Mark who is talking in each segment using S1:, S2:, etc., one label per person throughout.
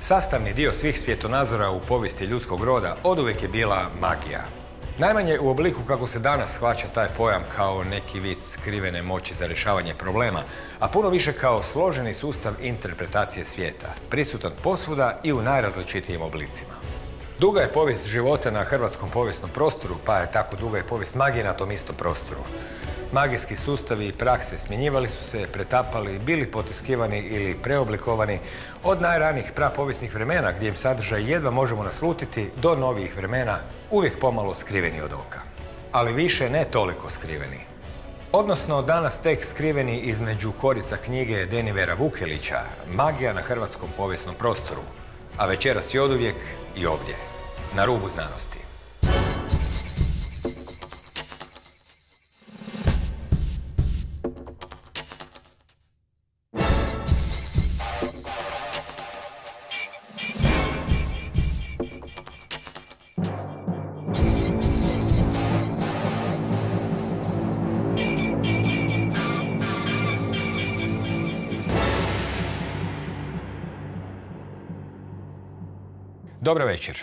S1: Sastavni dio svih svjetonazora u povijesti ljudskog roda oduvijek je bila magija. Najmanje u obliku kako se danas shvaća taj pojam kao neki vid skrivene moći za rješavanje problema, a puno više kao složeni sustav interpretacije svijeta, prisutan posvuda i u najrazličitijim oblicima. Duga je povijest života na hrvatskom povijesnom prostoru, pa je tako duga i povijest magije na tom istom prostoru. Magijski sustavi i prakse smjenjivali su se, pretapali, bili potiskivani ili preoblikovani od najranijih prapovijesnih vremena gdje im sadržaj jedva možemo naslutiti do novijih vremena, uvijek pomalo skriveni od oka. Ali više ne toliko skriveni. Odnosno danas tek skriveni između korica knjige Denivera Vukelića Magija na hrvatskom povijesnom prostoru, a večeras i oduvijek i ovdje, na rubu znanosti. Dobar večer.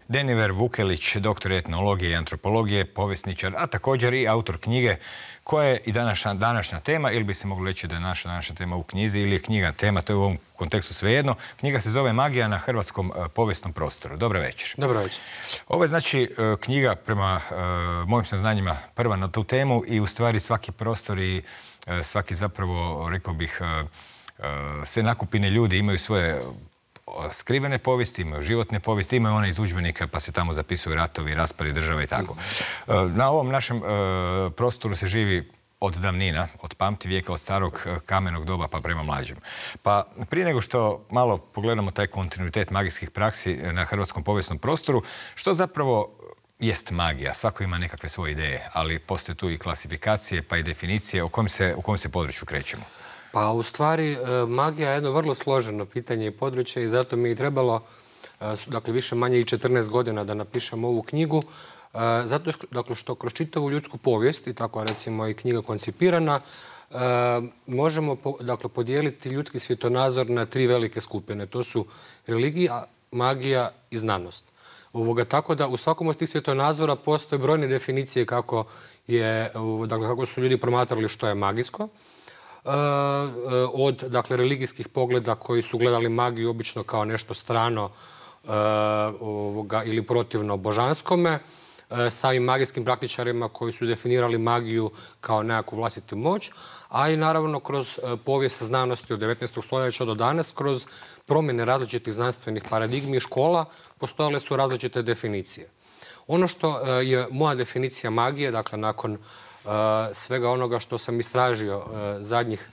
S1: Deniver Vukelić, doktor etnologije i antropologije, povjesničar, a također i autor knjige koja je i današnja tema, ili bi se moglo reći da je naša današnja tema u knjizi, ili je knjiga tema, to je u ovom kontekstu svejedno. Knjiga se zove Magija na hrvatskom povijesnom prostoru. Dobar večer.
S2: Dobar večer.
S1: Ovo je znači knjiga prema mojim saznanjima prva na tu temu i u stvari svaki prostor i svaki zapravo, rekao bih, sve nakupine ljudi imaju svoje skrivene povijesti, imaju životne povijesti, imaju one iz udžbenika pa se tamo zapisuju ratovi, raspadi države i tako. Na ovom našem prostoru se živi od davnina, od pamtivijeka, od starog kamenog doba pa prema mlađem. Pa prije nego što malo pogledamo taj kontinuitet magijskih praksi na hrvatskom povijesnom prostoru, što zapravo jest magija? Svako ima nekakve svoje ideje, ali postoje tu i klasifikacije pa i definicije. U kojem se području krećemo?
S2: Pa u stvari magija je jedno vrlo složeno pitanje i područje i zato mi je trebalo dakle više manje i 14 godina da napišem ovu knjigu. Zato što kroz čitavu ljudsku povijest i tako recimo i knjiga koncipirana možemo podijeliti ljudski svjetonazor na tri velike skupine. To su religija, magija i znanost. Tako da u svakom od tih svjetonazora postoje brojne definicije kako su ljudi promatrali što je magijsko. Od religijskih pogleda koji su gledali magiju obično kao nešto strano ili protivno božanskome, samim magijskim praktičarima koji su definirali magiju kao nekakvu vlastitu moć, a i naravno kroz povijest znanosti od 19. stoljeća do danas, kroz promjene različitih znanstvenih paradigmi i škola, postojale su različite definicije. Ono što je moja definicija magije, dakle nakon svega onoga što sam istražio zadnjih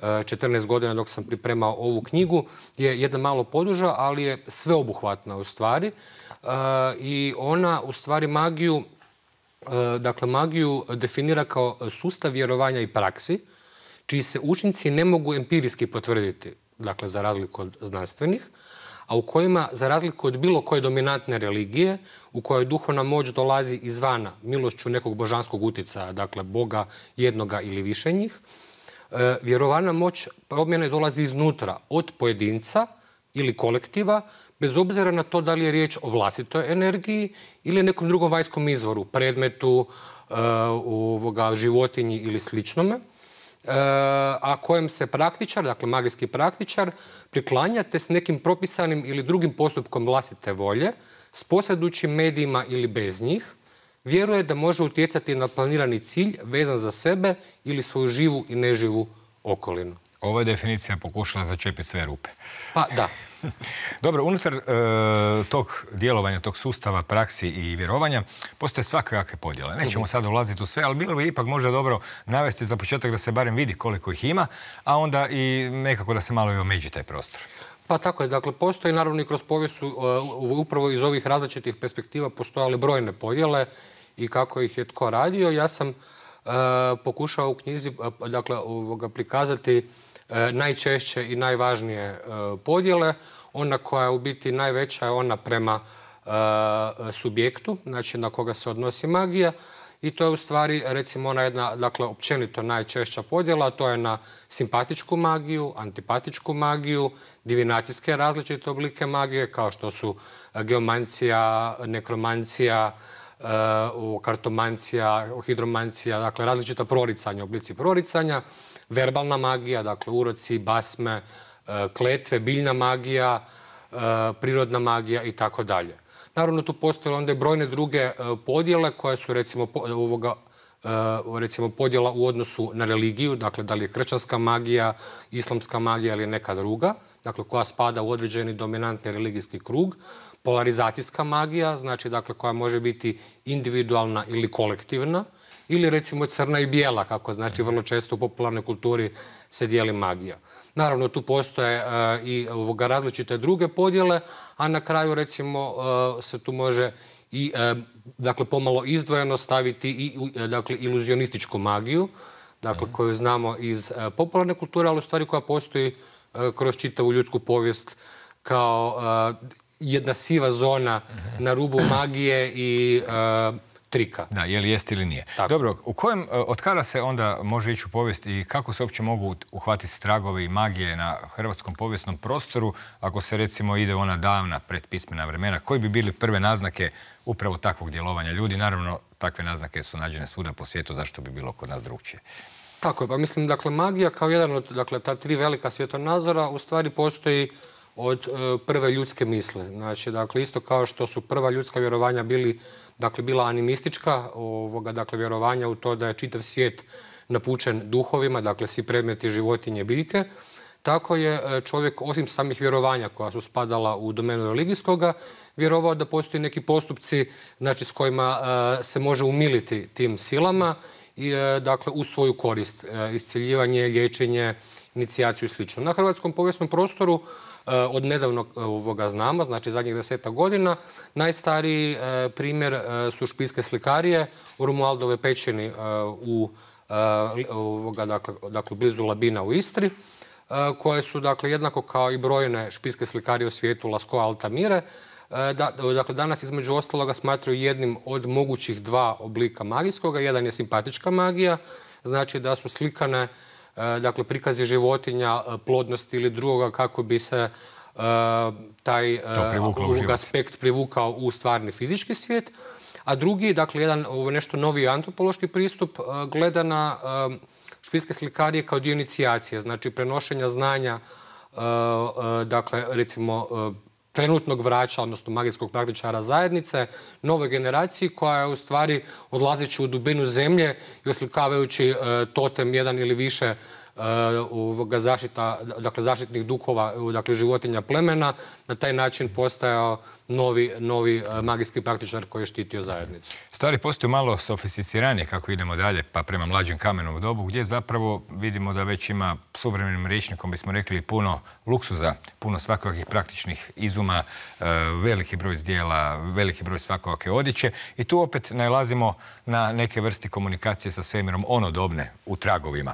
S2: 14 godina dok sam pripremao ovu knjigu, je jedna malo poduža, ali je sveobuhvatna u stvari. I ona u stvari magiju definira kao sustav vjerovanja i praksi, čiji se učinci ne mogu empirijski potvrditi, dakle za razliku od znanstvenih, a u kojima, za razliku od bilo koje dominantne religije, u kojoj duhovna moć dolazi izvana milošću nekog božanskog utjecaja, dakle Boga jednoga ili više njih, vjerovana moć promjene dolazi iznutra, od pojedinca ili kolektiva, bez obzira na to da li je riječ o vlastitoj energiji ili nekom drugom vanjskom izvoru, predmetu, životinji ili sličnome, a kojem se praktičar, dakle magijski praktičar, priklanja te s nekim propisanim ili drugim postupkom vlastite volje, s posjedujućim medijima ili bez njih, vjeruje da može utjecati na planirani cilj vezan za sebe ili svoju živu i neživu okolinu.
S1: Ova je definicija pokušala začepiti sve rupe.
S2: Pa da.
S1: Dobro, unutar tog djelovanja, tog sustava, praksi i vjerovanja postoje svakakve podjele. Nećemo sad ulaziti u sve, ali bilo bi ipak možda dobro navesti za početak da se barem vidi koliko ih ima, a onda i nekako da se malo i omeđi taj prostor.
S2: Pa tako je. Dakle, postoji naravno i kroz povijest upravo iz ovih različitih perspektiva postojale brojne podjele i kako ih je tko radio. Ja sam pokušao u knjizi prikazati najčešće i najvažnije podjele. Ona koja je u biti najveća je ona prema subjektu, znači na koga se odnosi magija, i to je u stvari, recimo, ona jedna, dakle, općenito najčešća podjela, to je na simpatičku magiju, antipatičku magiju, divinacijske različite oblike magije, kao što su geomancija, nekromancija, kartomancija, hidromancija, dakle, različita proricanja, oblici proricanja, verbalna magija, dakle, uroci, basme, kletve, biljna magija, prirodna magija i tako dalje. Naravno, tu postoje onda i brojne druge podjele koje su, recimo, podjela u odnosu na religiju, dakle, da li je kršćanska magija, islamska magija ili neka druga, dakle, koja spada u određeni dominantni religijski krug. Polarizacijska magija, znači, dakle, koja može biti individualna ili kolektivna, ili, recimo, crna i bijela, kako znači vrlo često u popularnoj kulturi se dijeli magija. Naravno, tu postoje i različite druge podjele, a na kraju, recimo, se tu može i, dakle, pomalo izdvojeno staviti i, dakle, iluzionističku magiju, dakle, koju znamo iz popularne kulture, ali u stvari koja postoji kroz čitavu ljudsku povijest kao jedna siva zona na rubu magije i trika.
S1: Da, je li jest ili nije.
S2: Tako.
S1: Dobro, od kada se onda može ići u povijest i kako se uopće mogu uhvatiti tragovi magije na hrvatskom povijesnom prostoru, ako se recimo ide ona davna predpismena vremena, koji bi bili prve naznake upravo takvog djelovanja ljudi? Naravno, takve naznake su nađene svuda po svijetu, zašto bi bilo kod nas drugčije?
S2: Tako je, pa mislim, dakle, magija kao jedan od, dakle, ta tri velika svjetonazora u stvari postoji od prve ljudske misli. Znači, dakle, isto kao što su prva ljudska vjerovanja bila animistička, dakle, vjerovanja u to da je čitav svijet napučen duhovima, dakle, svi predmeti, životinje, biljke, tako je čovjek, osim samih vjerovanja koja su spadala u domenu religijskoga, vjerovao da postoji neki postupci, znači, s kojima se može umiliti tim silama i, dakle, u svoju korist, iscjeljivanje, liječenje, inicijaciju i sl. Na hrvatskom povijesnom prostoru od nedavnog znamo, znači zadnjih 10 godina, najstariji primjer su špiljske slikarije u Romualdove pećini dakle, blizu Labina u Istri, koje su, dakle, jednako kao i brojne špiljske slikarije u svijetu, Lascaux, Altamire, dakle, danas između ostaloga smatraju jednim od mogućih dva oblika magijskoga. Jedan je simpatička magija, znači da su slikane, dakle, prikazi životinja, plodnosti ili drugoga kako bi se taj aspekt privukao u stvarni fizički svijet. A drugi, dakle, jedan nešto novi antropološki pristup gleda na špiljske slikarije kao dio inicijacije, znači prenošenja znanja, dakle, recimo, trenutnog vraća, odnosno magijskog praktičara zajednice, nove generaciji koja je u stvari odlazeći u dubinu zemlje i oslikavajući totem jedan ili više zaštitnih duhova, dakle, životinja plemena, na taj način postajao novi magijski praktičar koji je štitio zajednicu.
S1: Stvari postaju malo sofisticiranije kako idemo dalje, pa prema mlađem kamenom dobu, gdje zapravo vidimo da već ima suvremenim rječnikom, bismo rekli, puno luksuza, puno svakakvih praktičnih izuma, veliki broj zdjela, veliki broj svakakve odjeće i tu opet nalazimo na neke vrste komunikacije sa svemirom onodobne u tragovima.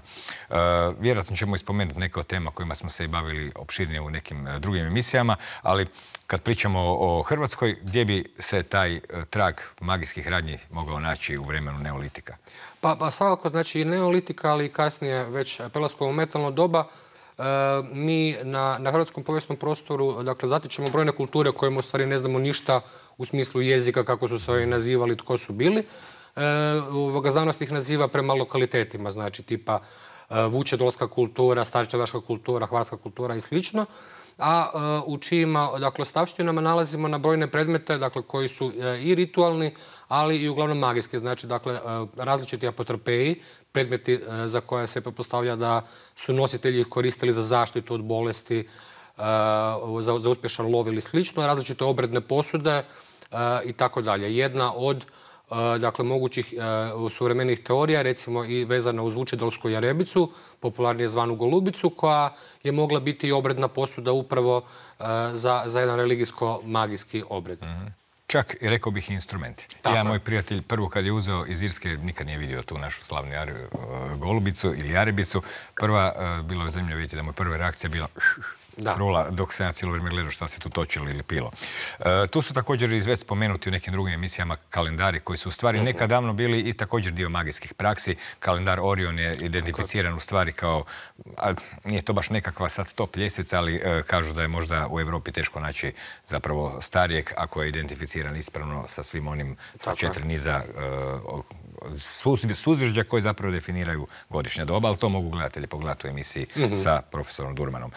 S1: Vjerojatno ćemo ispomenuti neke od tema kojima smo se i bavili opširnije u nekim drugim emisijama, ali kad pričamo o Hrvatskoj, gdje bi se taj trag magijskih radnji mogao naći u vremenu neolitika?
S2: Pa svakako, znači, i neolitika, ali i kasnije već Pelaskovo metalno doba, mi na hrvatskom povijesnom prostoru, dakle, zatičemo brojne kulture o kojima u stvari ne znamo ništa u smislu jezika, kako su se ovi nazivali, tko su bili. Znanost ih naziva prema lokalitetima, znači tipa vučedolska kultura, starčevaška kultura, hvarska kultura i slično. A u čijima, dakle, ostavštinama nalazimo na brojne predmete, dakle, koji su i ritualni, ali i uglavnom magijski. Znači, dakle, različiti apotropeji, predmeti za koje se pretpostavlja da su nositelji ih koristili za zaštitu od bolesti, za uspješan lov ili slično, različite obredne posude i tako dalje. Jedna od, dakle, mogućih suvremenih teorija, recimo i vezana uz vučedolsku jarebicu, popularnije zvanu golubicu, koja je mogla biti i obredna posuda upravo za jedan religijsko-magijski obred.
S1: Čak i rekao bih instrumenti. Ja, moj prijatelj, prvo kad je uzeo iz Irske, nikad nije vidio tu našu slavnu golubicu ili jarebicu. Prva, bilo je zanimljivo vidjeti da mu je prva reakcija bila krula, dok se ja cijelo vrijeme gledao šta se tu točilo ili pilo. Tu su također već spomenuti u nekim drugim emisijama kalendari koji su u stvari nekad davno bili i također dio magijskih praksi. Kalendar Orion je identificiran u stvari kao, nije to baš nekakva sad top ljestvica, ali kažu da je možda u Europi teško naći zapravo starijeg ako je identificiran ispravno sa svim onim, sa 4 niza suzvižđa koji zapravo definiraju godišnja doba, ali to mogu gledatelji pogledati u emisiji sa profesorom Durmanom.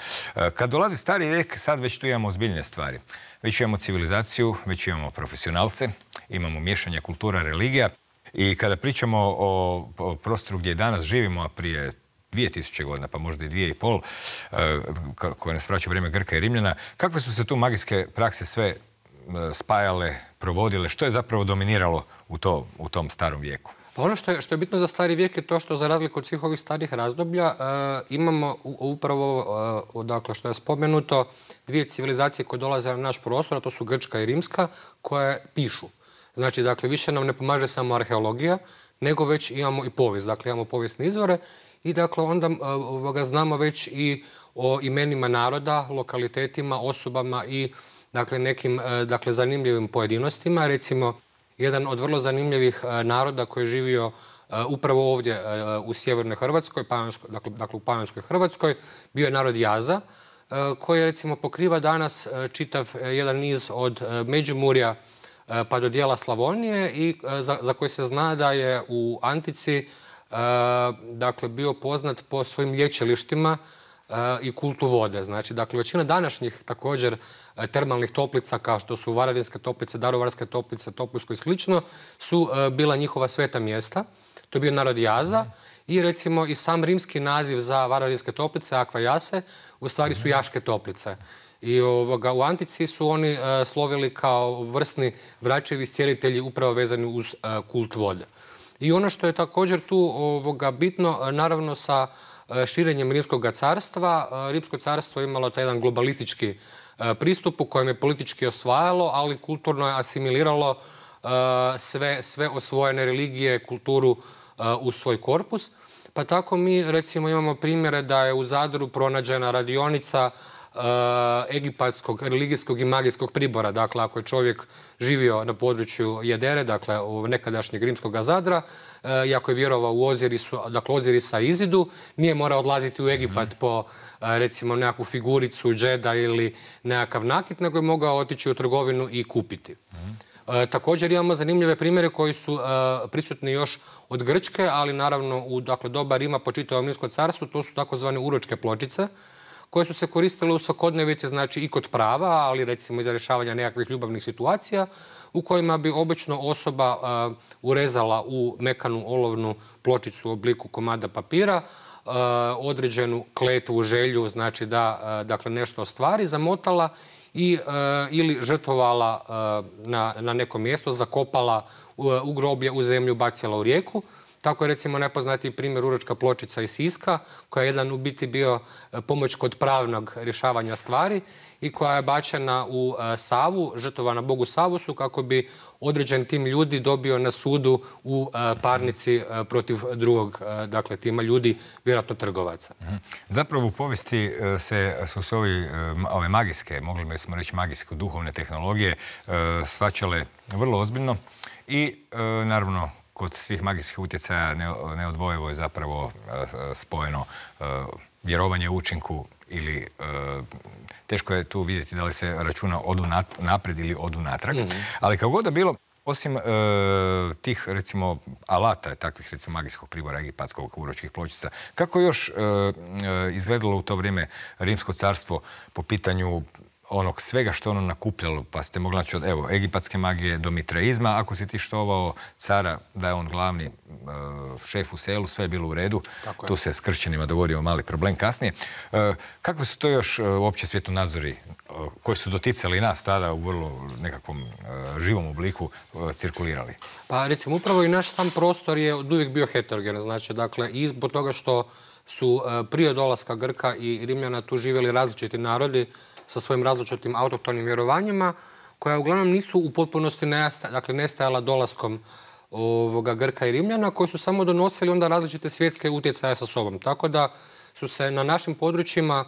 S1: Kad dolazi stari vijek, sad već tu imamo ozbiljne stvari. Već imamo civilizaciju, već imamo profesionalce, imamo miješanje kultura, religija i kada pričamo o prostoru gdje danas živimo, a prije 2000 godina, pa možda i 2,5, koje nas vraća vrijeme Grka i Rimljana, kakve su se tu magijske prakse sve spajale, provodile, što je zapravo dominiralo u tom starom vijeku?
S2: Pa ono što je bitno za stari vijek je to što za razliku od svih ovih starih razdoblja imamo upravo, dakle što je spomenuto, dvije civilizacije koje dolaze na naš prostor, a to su Grčka i Rimska, koje pišu. Znači, dakle, više nam ne pomaže samo arheologija, nego već imamo i povijest. Dakle, imamo povijesne izvore i dakle onda znamo već i o imenima naroda, lokalitetima, osobama i dakle nekim zanimljivim pojedinostima. Recimo, jedan od vrlo zanimljivih naroda koji je živio upravo ovdje u sjevernoj Hrvatskoj, dakle u Panonskoj Hrvatskoj, bio je narod Jaza, koji recimo pokriva danas čitav jedan niz od Međimurja pa do dijela Slavonije i za koji se zna da je u antici dakle bio poznat po svojim lječilištima i kultu vode. Znači, dakle, većina današnjih također termalnih toplica, kao što su Varaždinske toplice, Daruvarske toplice, Topuljsko i slično, su bila njihova sveta mjesta. To je bio narod Jaza i recimo i sam rimski naziv za Varaždinske toplice, Aqua Jase, u stvari su Jaške toplice. I u antici su oni slovili kao vrsni vračevi iscijelitelji upravo vezani uz kult vode. I ono što je također tu bitno, naravno sa širenjem Rimskog carstva. Rimsko carstvo je imalo taj jedan globalistički pristup u kojem je politički osvajalo, ali kulturno je asimiliralo sve osvojene religije, kulturu u svoj korpus. Pa tako mi recimo imamo primjere da je u Zadru pronađena radionica egipatskog, religijskog i magijskog pribora. Dakle, ako je čovjek živio na području Jedere, dakle u nekadašnjeg rimskog Zadra, i ako je vjerovao u Ozirisa i Izidu, nije morao odlaziti u Egipat po recimo nekakvu figuricu, džeda ili nekakav nakit, nego je mogao otići u trgovinu i kupiti. Također imamo zanimljive primjere koji su prisutni još od Grčke, ali naravno u doba Rima po čitavom Rimskom carstvu, to su takozvane uročke pločice, koje su se koristile u svakodnevici, znači i kod prava, ali recimo i za rješavanje nekakvih ljubavnih situacija, u kojima bi obično osoba urezala u mekanu olovnu pločicu u obliku komada papira određenu kletvu, želju, znači da nešto ostvari, zamotala ili žrtvovala na neko mjesto, zakopala u groblje, u zemlju, bacila u rijeku. Tako je recimo najpoznatiji primjer uročka pločica iz Siska, koja je jedan u biti bio pomoć kod pravnog rješavanja stvari i koja je bačena u Savu, žrtvovana bogu Savusu, kako bi određen tim ljudi dobio na sudu u parnici protiv drugog, dakle tima ljudi, vjerojatno trgovaca.
S1: Zapravo u povijesti su se ove magijske, mogli bismo reći magijsko duhovne tehnologije, shvaćale vrlo ozbiljno i naravno kod svih magijskih utjecaja neodvojivo je zapravo spojeno vjerovanje u učinku ili teško je tu vidjeti da li se računa odu naprijed ili odu natrag. Ali kako god da bilo, osim tih recimo alata, takvih recimo magijskog pribora, egipatskog, uročkih pločica, kako još izgledalo u to vrijeme Rimsko carstvo po pitanju onog svega što ono nakupljalo, pa ste mogli naći od egipatske magije do mitraizma, ako si ti štovao cara da je on glavni šef u selu, sve je bilo u redu. Tu se s kršćanima dogodio mali problem kasnije. Kakve su to još uopće svjetonazori koji su doticali nas tada u vrlo nekakvom živom obliku cirkulirali?
S2: Pa recimo upravo i naš sam prostor je od uvijek bio heterogen. Znači, dakle, i zbog toga što su prije dolaska Grka i Rimljana tu živjeli različiti narodi sa svojim različitim autohtonim vjerovanjima, koja uglavnom nisu u potpunosti nestajala dolaskom Grka i Rimljana, koji su samo donosili onda različite svjetske utjecaje sa sobom. Tako da su se na našim područjima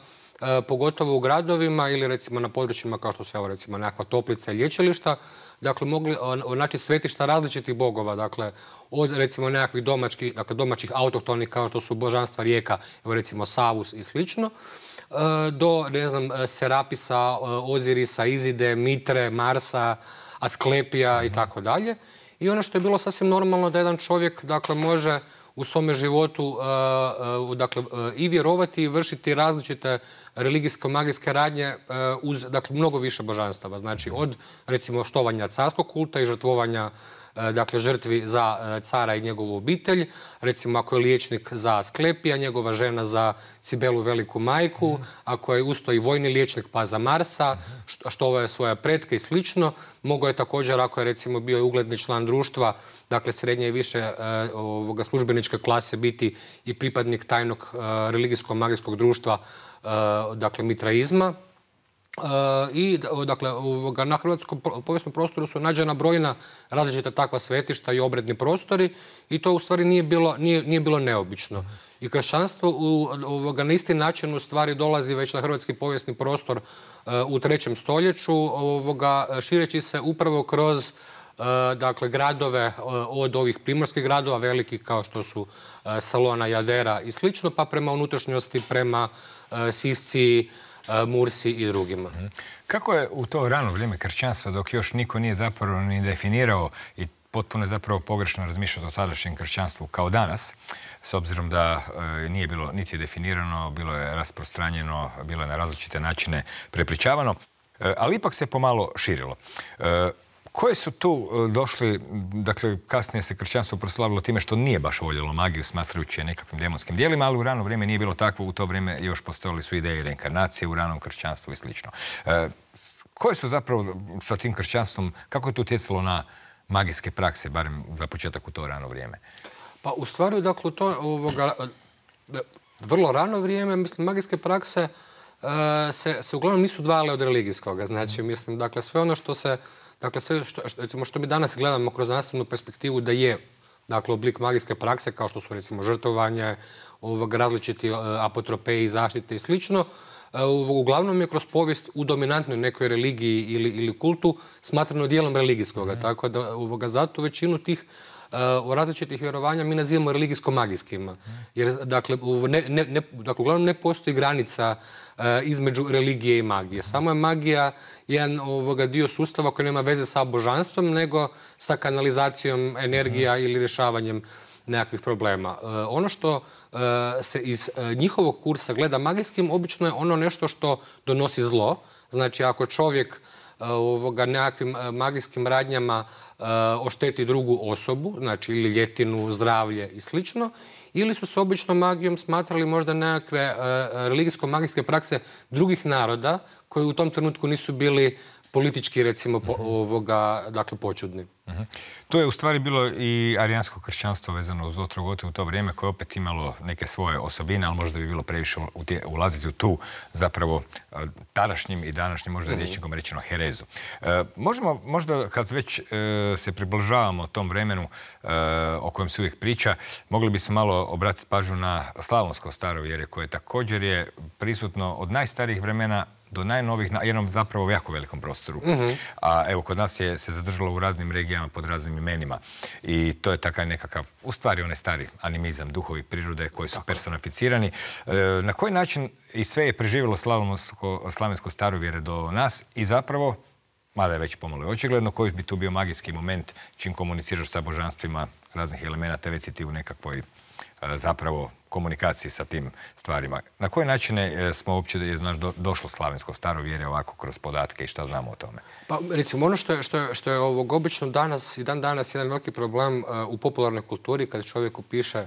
S2: pogotovo u gradovima ili recimo na područjima kao što su evo recimo nekakva toplica i lječilišta, dakle mogli naći svetišta različitih bogova, dakle od recimo nekakvih domaćih autohtonih kao što su božanstva rijeka, evo recimo Savus i slično, do, ne znam, Serapisa, Ozirisa, Izide, Mitre, Marsa, Asklepija i tako dalje. I ono što je bilo sasvim normalno da jedan čovjek, dakle, može u svome životu i vjerovati i vršiti različite religijsko-magijske radnje uz, dakle, mnogo više božanstava. Znači, od, recimo, štovanja carskog kulta i žrtvovanja dakle, žrtvi za cara i njegovu obitelj. Recimo, ako je liječnik za Asklepija, njegova žena za Cibelu veliku majku, ako je usto i vojni liječnik pa za Marsa, štovao je svoje pretke i slično. Mogao je također, ako je recimo bio ugledni član društva, dakle srednje i više službeničke klase, biti i pripadnik tajnog religijsko-magijskog društva, dakle mitraizma. I dakle, na hrvatskom povijesnom prostoru su nađena brojna različita takva svetišta i obredni prostori i to u stvari nije bilo neobično. I kršćanstvo na isti način u stvari dolazi već na hrvatski povijesni prostor u 3. stoljeću, šireći se upravo kroz dakle, gradove od ovih primorskih gradova, velikih kao što su Salona, Jadera i slično, pa prema unutrašnjosti, prema Sisci, Mursi i drugima.
S1: Kako je u to rano vrijeme kršćanstva, dok još niko nije zapravo ni definirao i potpuno je zapravo pogrešno razmišljati o tadašnjem kršćanstvu kao danas, s obzirom da nije bilo niti definirano, bilo je rasprostranjeno, bilo je na različite načine prepričavano, ali ipak se pomalo širilo. Koje su tu došli, dakle, kasnije se kršćanstvo proslavilo time što nije baš voljelo magiju, smatrajući je nekakvim demonskim dijelima, ali u rano vrijeme nije bilo takvo, u to vrijeme još postojali su ideje reinkarnacije u ranom kršćanstvu i slično. Koje su zapravo sa tim kršćanstvom, kako je to utjecalo na magijske prakse, barem za početak u to rano vrijeme?
S2: Pa u stvari, dakle, to vrlo rano vrijeme, mislim, magijske prakse se uglavnom nisu dvale od religijskoga. Znači, mislim, dakle, sve ono što se dakle, sve što mi danas gledamo kroz znanstvenu perspektivu da je, dakle, oblik magijske prakse, kao što su, recimo, žrtvovanje, različiti apotropeji, zaštite i slično, uglavnom je kroz povijest u dominantnoj nekoj religiji ili kultu smatrano dijelom religijskoga. Tako da zato većinu tih različitih vjerovanja mi nazivamo religijsko-magijskima. Jer, dakle, uglavnom ne postoji granica između religije i magije. Samo je magija jedan dio sustava koji nema veze sa božanstvom, nego sa kanalizacijom energija ili rješavanjem nekakvih problema. Ono što se iz njihovog kursa gleda magijskim, obično je ono nešto što donosi zlo. Znači, ako čovjek nekakvim magijskim radnjama ošteti drugu osobu, znači ili ljetinu, zdravlje i slično, ili su se obično magijom smatrali možda nekakve religijsko-magijske prakse drugih naroda koji u tom trenutku nisu bili politički, recimo, dakle, počudni.
S1: To je u stvari bilo i arijansko kršćanstvo vezano uz Otrogote u to vrijeme, koje opet imalo neke svoje osobine, ali možda bi bilo previše ulaziti u tu zapravo tadašnjim i današnjim, možda rječnikom rečeno, herezu. Možemo, možda kad već se približavamo tom vremenu o kojem se uvijek priča, mogli bismo malo obratiti pažnju na slavonsko starovjerje, koje također je prisutno od najstarijih vremena do najnovih, na jednom zapravo jako velikom prostoru. A evo, kod nas se zadržalo u raznim regijama pod raznim imenima. I to je takav nekakav, u stvari onaj stari animizam, duhovi prirode koji su personificirani. Na koji način i sve je preživjelo slavensko starovjere do nas i zapravo, mada je već pomalo očigledno, koji bi tu bio magijski moment čim komuniciraš sa božanstvima raznih elemenata, već si ti u nekakvoj zapravo komunikaciji sa tim stvarima. Na koje načine smo uopće došlo slavensko starovjerje ovako kroz podatke i šta znamo o tome?
S2: Pa, recimo, ono što je obično danas i dan danas jedan veliki problem u popularnoj kulturi, kada čovjek upiše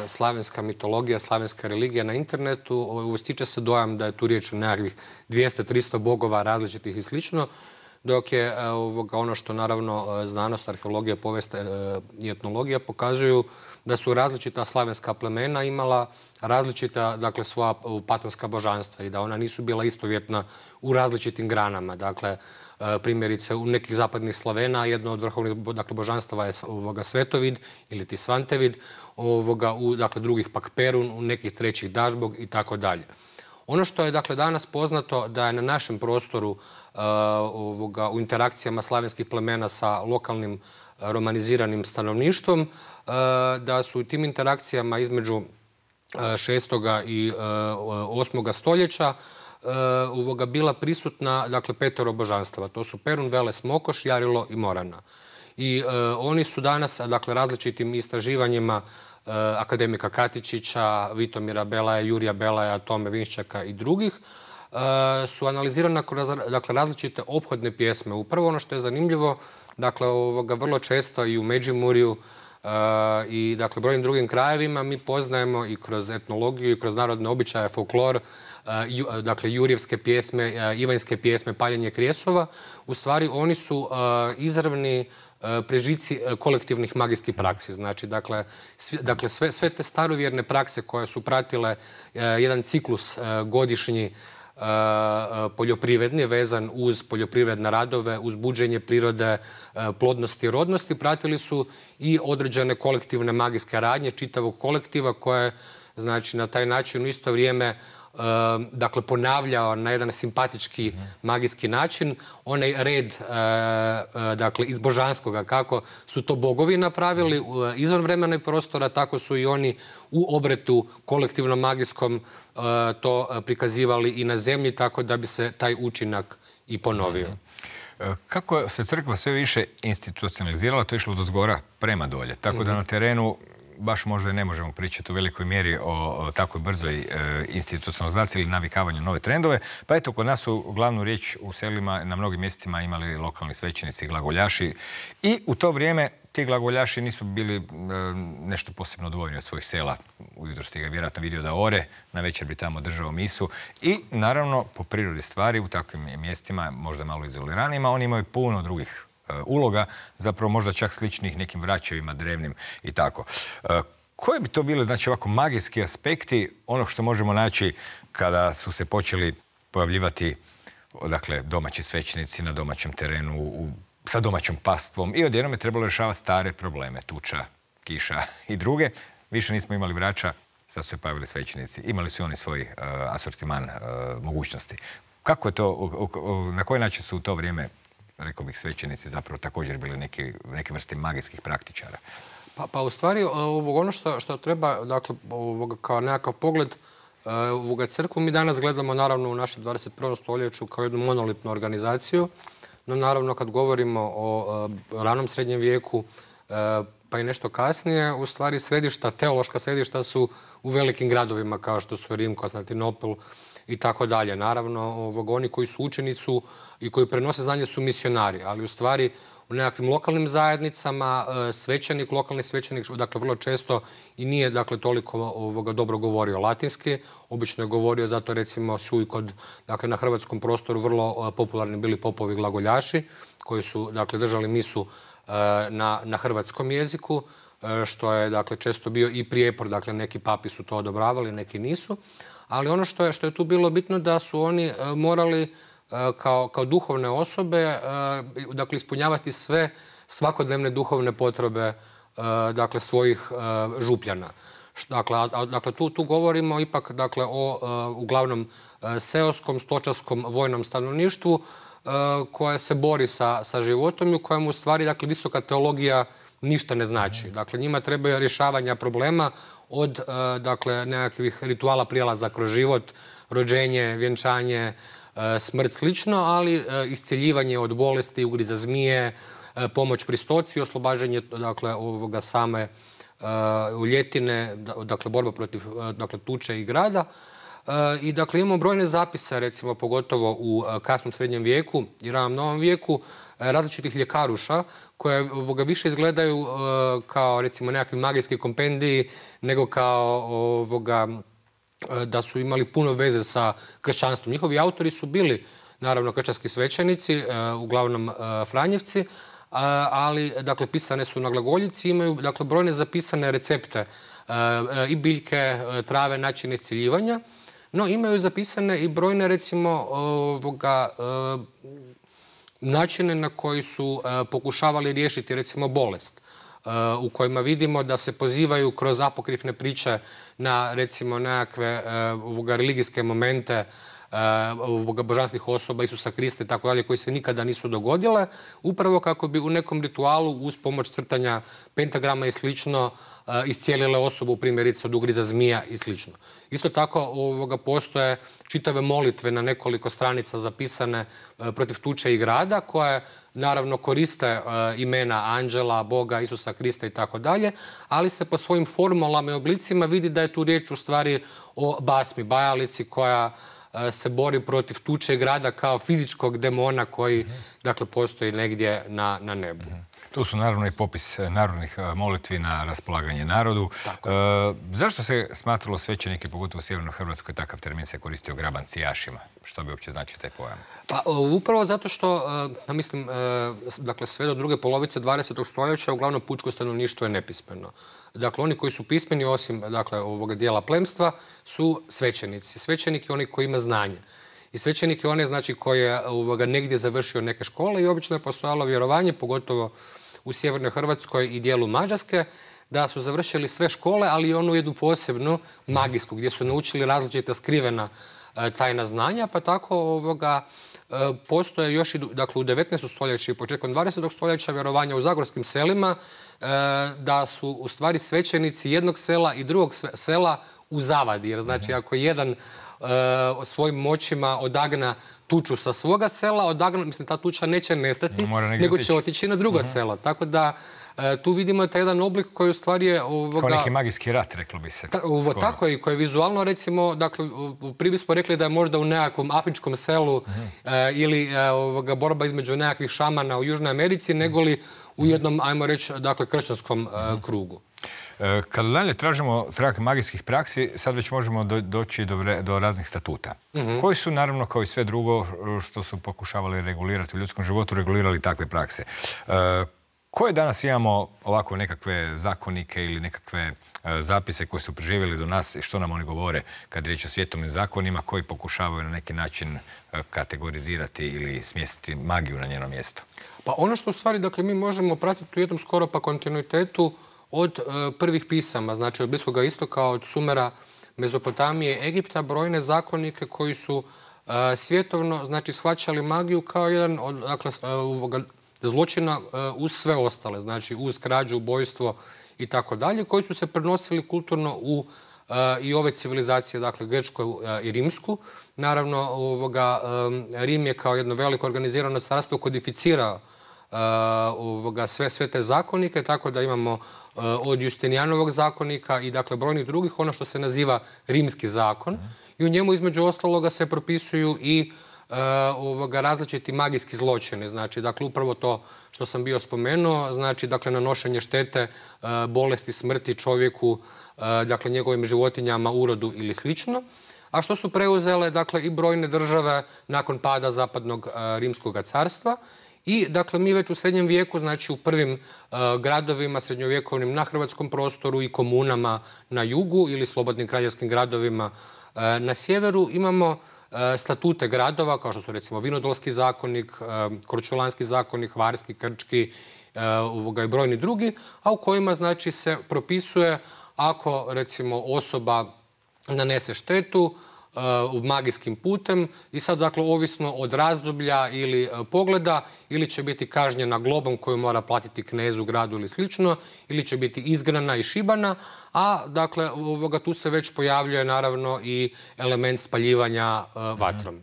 S2: slavenska mitologija, slavenska religija na internetu, stiče se dojam da je tu riječ o nekakvih 200-300 bogova različitih i slično, dok je ono što naravno znanost, arheologija, povijest i etnologija pokazuju da su različita slavenska plemena imala različita, dakle, svoja patonska božanstva i da ona nisu bila istovjetna u različitim granama. Dakle, primjerice, u nekih zapadnih Slavena jedno od vrhovnih, dakle, božanstava je Svetovid ili ti Svantevid, u, dakle, drugih pak Perun, u nekih trećih Dažbog i tako dalje. Ono što je dakle danas poznato da je na našem prostoru u interakcijama slavenskih plemena sa lokalnim romaniziranim stanovništvom, da su u tim interakcijama između 6. i 8. stoljeća bila prisutna, dakle, 5 božanstava. To su Perun, Veles, Mokoš, Jarilo i Morana. I oni su danas, dakle, različitim istraživanjima akademika Katičića, Vitomira Belaja, Jurija Belaja, Tome Vinščaka i drugih, su analizirana kroz, dakle, različite ophodne pjesme. Upravo ono što je zanimljivo, dakle, vrlo često i u Međimurju i, dakle, brojnim drugim krajevima mi poznajemo i kroz etnologiju i kroz narodne običaje, folklor, dakle, Jurjevske pjesme, Ivanjske pjesme, paljenje krijesova. U stvari, oni su izravni prežici kolektivnih magijskih praksi. Znači, dakle, sve te starovjerne prakse koje su pratile jedan ciklus godišnji poljoprivredni, vezan uz poljoprivredne radove, uz buđenje prirode, plodnosti i rodnosti, pratili su i određene kolektivne magijske radnje čitavog kolektiva koje, znači, na taj način u isto vrijeme dakle, ponavljao na jedan simpatički magijski način onaj red, dakle, iz božanskoga, kako su to bogovi napravili izvan vremena i prostora, tako su i oni u obretu kolektivnom magijskom to prikazivali i na zemlji, tako da bi se taj učinak i ponovio.
S1: Kako se crkva sve više institucionalizirala, to je išlo dozgora prema dolje, tako da na terenu baš možda i ne možemo pričati u velikoj mjeri o takvoj brzoj institucionalizaciji ili navikavanju nove trendove. Pa eto, kod nas su glavnu riječ u selima na mnogim mjestima imali lokalni svećenici i glagoljaši. I u to vrijeme ti glagoljaši nisu bili nešto posebno odvojeni od svojih sela. Ujutro ste ga vjerojatno vidio da ore, na večer bi tamo držao misu. I naravno, po prirodi stvari, u takvim mjestima, možda malo izoliranijima, oni imaju puno drugih uloga, zapravo možda čak sličnih nekim vraćevima drevnim i tako. Koje bi to bile, znači, ovako magijski aspekti onog što možemo naći kada su se počeli pojavljivati, dakle, domaći svećenici na domaćem terenu, sa domaćom pastvom i odjednom je trebalo rješavati stare probleme, tuča, kiša i druge. Više nismo imali vraća, sad su se pojavili svećenici. Imali su oni svoj asortiman mogućnosti. Kako je to, na koji način su u to vrijeme, rekao bih, svećenici zapravo također bili neke vrste magijskih praktičara?
S2: Pa u stvari, ono što treba, dakle, kao nekakav pogled, crkvu mi danas gledamo naravno u našem 21. stoljeću kao jednu monolitnu organizaciju, no naravno kad govorimo o ranom srednjem vijeku pa i nešto kasnije, u stvari teološka središta su u velikim gradovima kao što su Rim, Konstantinopol i tako dalje. Naravno, oni koji su učenici i koji prenose znanje su misionari, ali u stvari u nekakvim lokalnim zajednicama svećenik, lokalni svećenik, dakle, vrlo često i nije, dakle, toliko dobro govorio latinski. Obično je govorio, zato recimo su i kod, dakle, na hrvatskom prostoru vrlo popularni bili popovi glagoljaši koji su, dakle, držali misu na hrvatskom jeziku, što je, dakle, često bio i prijepor, dakle, neki papi su to odobravali, neki nisu. Ali ono što je tu bilo bitno da su oni morali kao duhovne osobe, dakle, ispunjavati sve svakodnevne duhovne potrebe, dakle, svojih župljana. Dakle, tu govorimo ipak, dakle, o uglavnom seoskom, stočarskom, vojnom stanovništvu koje se bori sa životom i u kojem u stvari, dakle, visoka teologija ništa ne znači. Dakle, njima trebaju rješavanja problema od, dakle, nekakvih rituala prijelaza kroz život, rođenje, vjenčanje, smrt slično, ali iscjeljivanje od bolesti, ugriza zmije, pomoć pri stoci, oslobađanje, dakle, same ljetine, dakle, borba protiv, dakle, tuče i grada. I, dakle, imamo brojne zapise, recimo, pogotovo u kasnom srednjem vijeku i ranom novom vijeku, različitih ljekaruša koje više izgledaju kao, recimo, nekakvi magijski kompendiji nego kao da su imali puno veze sa kršćanstvom. Njihovi autori su bili, naravno, kršćanski svećenici, uglavnom Franjevci, ali, dakle, pisane su na glagoljici, imaju, dakle, brojne zapisane recepte i biljke, trave, načine iscjeljivanja, no imaju zapisane i brojne, recimo, načine na koji su pokušavali riješiti, recimo, bolest. u kojima vidimo da se pozivaju kroz apokrifne priče na, recimo, nekakve religijske momente božanskih osoba, Isusa Krista i tako dalje, koji se nikada nisu dogodile, upravo kako bi u nekom ritualu uz pomoć crtanja pentagrama i slično iscijelile osobu, primjerice od ugriza zmija i slično. Isto tako postoje čitave molitve na nekoliko stranica zapisane protiv tuče i grada, koje naravno koriste imena anđela, Boga, Isusa Krista i tako dalje, ali se po svojim formulama i oblicima vidi da je tu riječ u stvari o basmi, bajalici koja se bori protiv tuče grada kao fizičkog demona koji, dakle, postoji negdje na nebu.
S1: Tu su naravno i popis narodnih molitvi na raspolaganje narodu. Zašto se smatralo svećenike, pogotovo u Sjevernoj Hrvatskoj, takav termin se koristio grabancijašima? Što bi uopće značio taj pojam?
S2: Pa upravo zato što, mislim, dakle, sve do druge polovice 20. stoljeća uglavnom pučko stanovništvo je nepismeno. Dakle, oni koji su pismeni, osim, dakle, ovoga dijela plemstva, su svećenici. Svećenik je onaj koji ima znanje. I svećenik je onaj, znači, koji je negdje završio neke škole i obično je postojalo vjerovanje, pogotovo u Sjevernoj Hrvatskoj i dijelu Mađarske, da su završili sve škole, ali i onu jednu posebnu magijsku, gdje su naučili različita skrivena tajna znanja, pa tako postoje još i, dakle, u 19. stoljeću i početkom 20. stoljeća vjerovanja u zagorskim selima da su u stvari svećenici jednog sela i drugog sela u zavadi. Jer znači ako jedan svojim moćima odagna tuču sa svoga sela, mislim, ta tuča neće nestati, nego će otići na drugo selo. Tako da tu vidimo taj jedan oblik koji u stvari je...
S1: Kao neki magijski rat, reklo bi se.
S2: Tako je, koji je vizualno, recimo, dakle, prije bismo rekli da je možda u nekakvom afričkom selu ili borba između nekakvih šamana u Južnoj Americi, nego li u jednom, ajmo reći, dakle, kršćanskom krugu.
S1: Kada dalje tražimo trag magijskih praksi, sad već možemo doći do raznih statuta. Koji su, naravno, kao i sve drugo što su pokušavali regulirati u ljudskom životu, regulirali takve prakse. Koje danas imamo ovako nekakve zakonike ili nekakve zapise koji su preživjeli do nas i što nam oni govore kad riječ o svjetovnim zakonima koji pokušavaju na neki način kategorizirati ili smjestiti magiju na njeno mjesto?
S2: Pa ono što u stvari, dakle, mi možemo pratiti u jednom skoro pa kontinuitetu od prvih pisama, znači od Bliskoga istoka, od Sumera, Mezopotamije, Egipta, brojne zakonike koji su svjetovno, znači, shvaćali magiju kao jedan od, dakle, zločina uz sve ostale, znači uz krađu, ubojstvo i tako dalje, koji su se prenosili kulturno u i ove civilizacije, dakle, grčku i rimsku. Naravno, Rim je kao jedno veliko organizirano carstvo kodificirao sve te zakonike, tako da imamo od Justinijanovog zakonika i, dakle, brojnih drugih, ono što se naziva rimski zakon. I u njemu, između ostaloga, se propisuju i različiti magijski zločini. Znači, dakle, upravo to što sam bio spomenuo, znači, dakle, nanošenje štete, bolesti, smrti čovjeku, dakle, njegovim životinjama, urodu ili slično. A što su preuzele, dakle, i brojne države nakon pada Zapadnog rimskog carstva. I, dakle, mi već u srednjem vijeku, znači u prvim gradovima srednjovjekovnim na hrvatskom prostoru i komunama na jugu ili slobodnim kraljevskim gradovima na sjeveru imamo statute gradova, kao što su, recimo, Vinodolski zakonik, Korčulanski zakonik, Hvarski, Krčki i brojni drugi, a u kojima, znači, se propisuje ako, recimo, osoba nanese štetu magijskim putem i sad, dakle, ovisno od razdoblja ili pogleda, ili će biti kažnjena globom koju mora platiti knezu, gradu ili slično, ili će biti izgnana i šibana, a, dakle, tu se već pojavljuje, naravno, i element spaljivanja vatrom.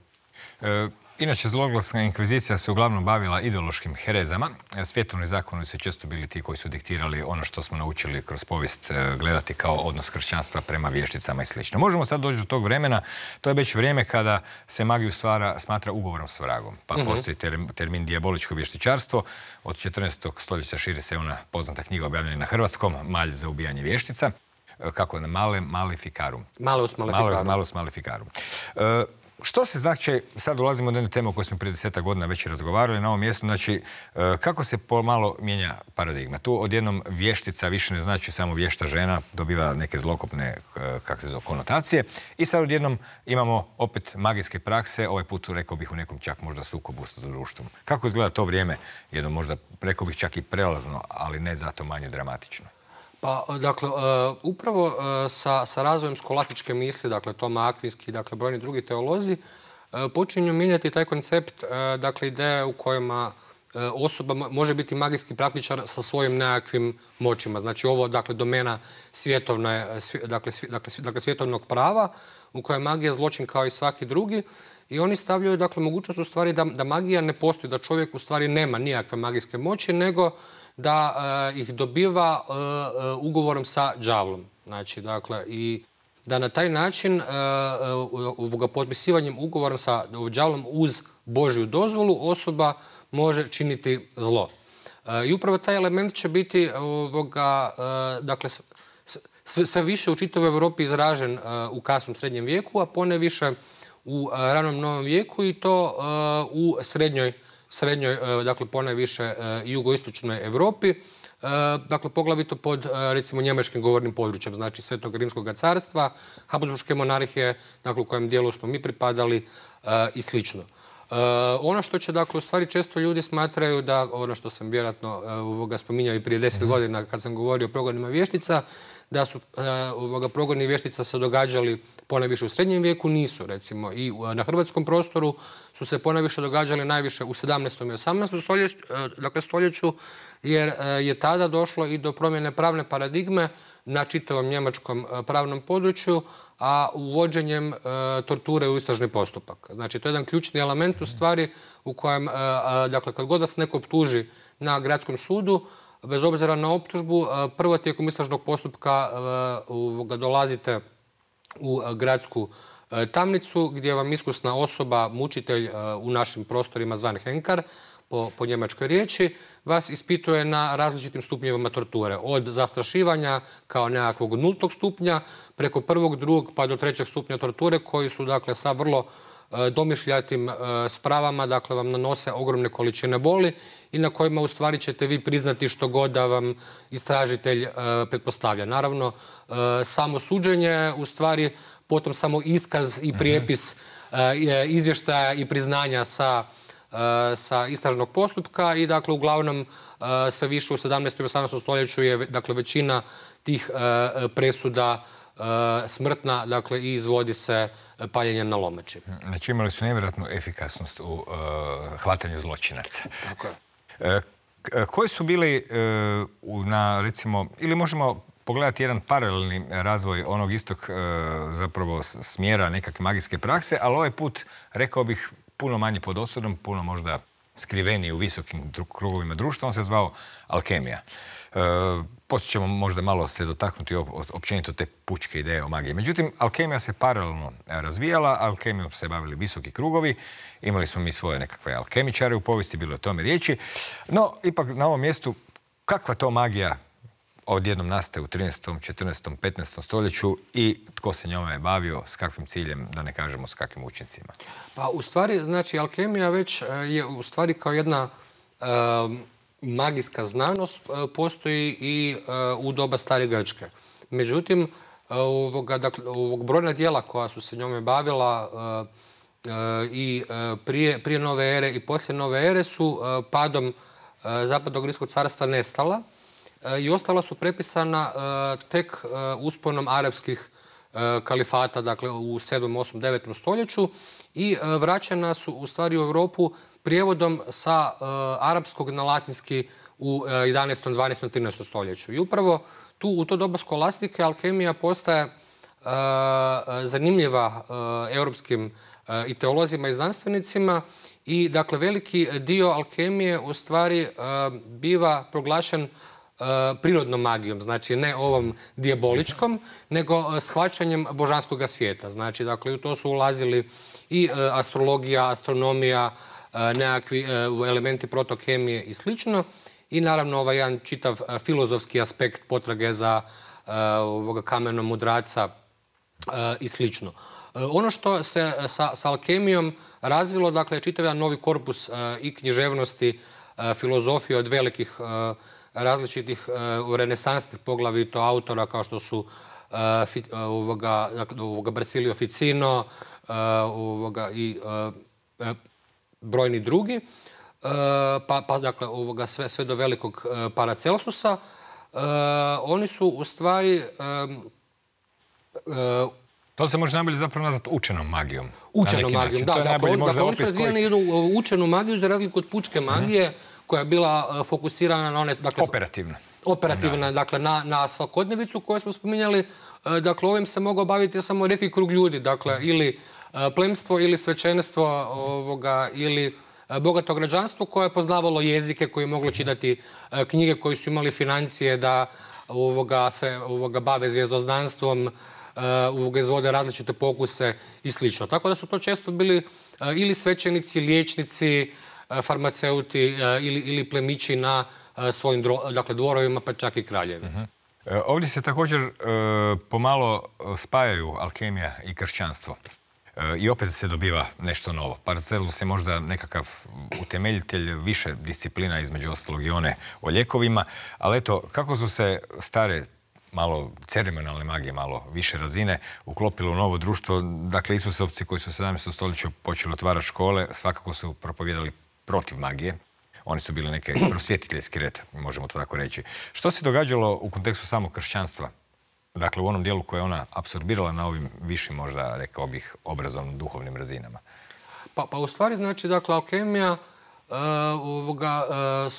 S1: Inače, zloglasna inkvizicija se uglavnom bavila ideološkim herezama. Svjetovni zakoni su često bili ti koji su diktirali ono što smo naučili kroz povijest gledati kao odnos kršćanstva prema vješticama i sl. Možemo sad doći do tog vremena. To je već vrijeme kada se magiju smatra ugovorom s vragom. Pa postoji termin dijaboličko vještičarstvo. Od 14. stoljeća širi se ona poznata knjiga objavljena na hrvatskom, Malj za ubijanje vještica. Kako je? Malus maleficarum.
S2: Malus maleficarum.
S1: Malus maleficarum. Što se znači, sad dolazimo do jedne teme o kojoj smo prije 10 godina već razgovarali na ovom mjestu, znači kako se pomalo mijenja paradigma. Tu odjednom vještica više ne znači samo vješta žena, dobiva neke zlokopne konotacije i sad odjednom imamo opet magijske prakse, ovaj put rekao bih u nekom čak možda sukobu s društvom. Kako izgleda to vrijeme, jedno možda rekao bih čak i prelazno, ali ne zato manje dramatično?
S2: Pa, dakle, upravo sa razvojem skolastičke misli, dakle, Toma Akvinski, dakle, brojni drugi teolozi, počinju mijenjati taj koncept, dakle, ideje u kojima osoba može biti magijski praktičar sa svojim nekakvim moćima. Znači, ovo, dakle, domena svjetovnog prava, u kojoj je magija zločin kao i svaki drugi. I oni stavljaju, dakle, mogućnost u stvari da magija ne postoji, da čovjek u stvari nema nijakve magijske moći, nego da ih dobiva ugovorom sa đavlom. Znači, dakle, i da na taj način potpisivanjem ugovorom sa đavlom uz Božju dozvolu osoba može činiti zlo. I upravo taj element će biti dakle, sve više u čitavoj Europi izražen u kasnom srednjem vijeku, a poneviše u ranom novom vijeku i to u srednjoj, dakle, ponajviše jugoistočnoj Europi, dakle, poglavito pod, recimo, njemačkim govornim područjem, znači Svetog Rimskog carstva, Habsburške monarhije, dakle, u kojem dijelu smo mi pripadali i slično. Ono što će, dakle, u stvari često ljudi smatraju da, ono što sam vjerojatno spominjao i prije 10 godina kad sam govorio o progonima vještica, da su progoni vještica se događali ponajviše u srednjem vijeku, nisu, recimo, i na hrvatskom prostoru su se ponajviše događali najviše u 17. i 18. stoljeću, jer je tada došlo i do promjene pravne paradigme na čitavom njemačkom pravnom području, a uvođenjem torture u istražni postupak. Znači, to je jedan ključni element u stvari u kojem, dakle, kad god vas neko optuži na gradskom sudu, bez obzira na optužbu, prvo tijekom istražnog postupka dolazite u gradsku tamnicu gdje vam iskusna osoba, mučitelj u našim prostorima zvan Henkar, po njemačkoj riječi, vas ispituje na različitim stupnjevima torture. Od zastrašivanja kao nekakvog 0. stupnja, preko 1., 2. pa do 3. stupnja torture, koji su, dakle, sa vrlo domišljatim spravama, dakle, vam nanose ogromne količine boli i na kojima u stvari ćete vi priznati što god da vam istražitelj pretpostavlja. Naravno, samo suđenje, u stvari, potom samo iskaz i prijepis izvještaja i priznanja sa istražnog postupka i, dakle, uglavnom sve više u 17. i 18. stoljeću je, dakle, većina tih presuda smrtna, dakle, i izvodi se paljenjem na lomači.
S1: Znači, imali su nevjerojatnu efikasnost u hvatanju zločinaca.
S2: Tako je.
S1: Koji su bili recimo, ili možemo pogledati jedan paralelni razvoj onog istog zapravo smjera nekakve magijske prakse, ali ovaj put, rekao bih, puno manje pod osudom, puno možda skriveniji u visokim krugovima društva, on se zvao alkemija. Poslije ćemo možda malo se dotaknuti općenito te pučke ideje o magiji. Međutim, alkemija se paralelno razvijala, alkemijom se bavili visoki krugovi, imali smo mi svoje nekakve alkemičare u povijesti, bilo je o tome riječi. No, ipak na ovom mjestu, kakva to magija odjednom nastaje u 13., 14., 15. stoljeću i tko se njome bavio, s kakvim ciljem, da ne kažemo s kakvim učincima?
S2: Pa, u stvari, znači, alkemija već je u stvari kao jedna magijska znanost postoji i u doba stare Grčke. Međutim, ovog brojna dijela koja su se njome bavila i prije nove ere i poslije nove ere su padom Zapadnog Rimskog carstva nestala i ostala su prepisana tek usponom arapskih kalifata, dakle, u 7., 8., 9. stoljeću i vraćena su u stvari u Europu prijevodom sa arapskog na latinski u 11., 12., 13. stoljeću. I upravo tu, u to doba skolastike, alkemija postaje zanimljiva europskim i teolozima i znanstvenicima i, dakle, veliki dio alkemije u stvari biva proglašen prirodnom magijom, znači ne ovom dijaboličkom, nego shvaćanjem božanskog svijeta. Znači, dakle, u to su ulazili i astrologija, astronomija, nekakvi elementi protokemije i slično. I naravno ovaj jedan čitav filozofski aspekt potrage za kamenom mudraca i slično. Ono što se sa alkemijom razvilo, dakle, čitav jedan novi korpus i književnosti, filozofije od velikih različitih renesansnih poglavito autora kao što su Bracilio Ficino i brojni drugi, pa dakle sve do velikog Paracelsusa. Oni su u stvari...
S1: To se može najbolje zapravo nazvati učenom magijom.
S2: Učenom magijom, da. Dakle, oni su razvijeni jednu učenu magiju za razliku od pučke magije koja je bila fokusirana na one... Operativna, dakle, na svakodnevicu koju smo spominjali. Dakle, ovim se mogao baviti samo redki krug ljudi, dakle, ili plemstvo, ili svećenstvo, ili bogato građanstvo koje je poznavalo jezike, koje je moglo čitati knjige, koji su imali financije da se bave zvijezdoznanstvom, izvode različite pokuse i sl. Tako da su to često bili ili svećenici, liječnici, farmaceuti ili plemići na svojim dvorovima, pa čak i kraljevi.
S1: Ovdje se također pomalo spajaju alkemija i kršćanstvo. I opet se dobiva nešto novo. Paracelsus je možda nekakav utemeljitelj više disciplina, između ostalog i one o lijekovima, ali eto, kako su se stare malo ceremonijalne magije, malo više razine, uklopilo u novo društvo. Dakle, Isusovci koji su u 17. stoljeću počeli otvarati škole, svakako su propovijedali protiv magije. Oni su bili neki prosvjetiteljski red, možemo to tako reći. Što se događalo u kontekstu samog kršćanstva? Dakle, u onom dijelu koje je ona apsorbirala na ovim višim, možda, rekao bih, obrazovno-duhovnim razinama.
S2: Pa u stvari, znači, dakle, alkemija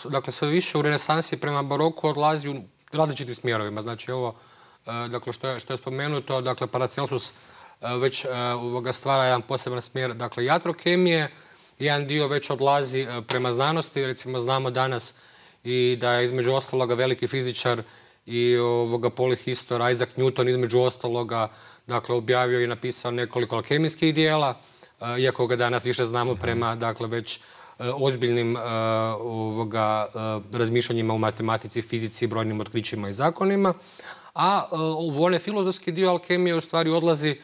S2: dakle, sve više u renesansi prema baroku odlazi u različitim smjerovima. Znači, ovo, dakle, što je spomenuto, dakle, Paracelsus već stvara jedan poseban smjer, dakle, iatrokemije. Jedan dio već odlazi prema znanosti. Recimo, znamo danas i da je između ostaloga veliki fizičar i polihistor Isaac Newton između ostaloga, dakle, objavio i napisao nekoliko alkemijskih dijela, iako ga danas više znamo prema, dakle, već ozbiljnim razmišljanjima u matematici, fizici, brojnim otkrićima i zakonima. A u onaj filozofski dio alkemije u stvari odlazi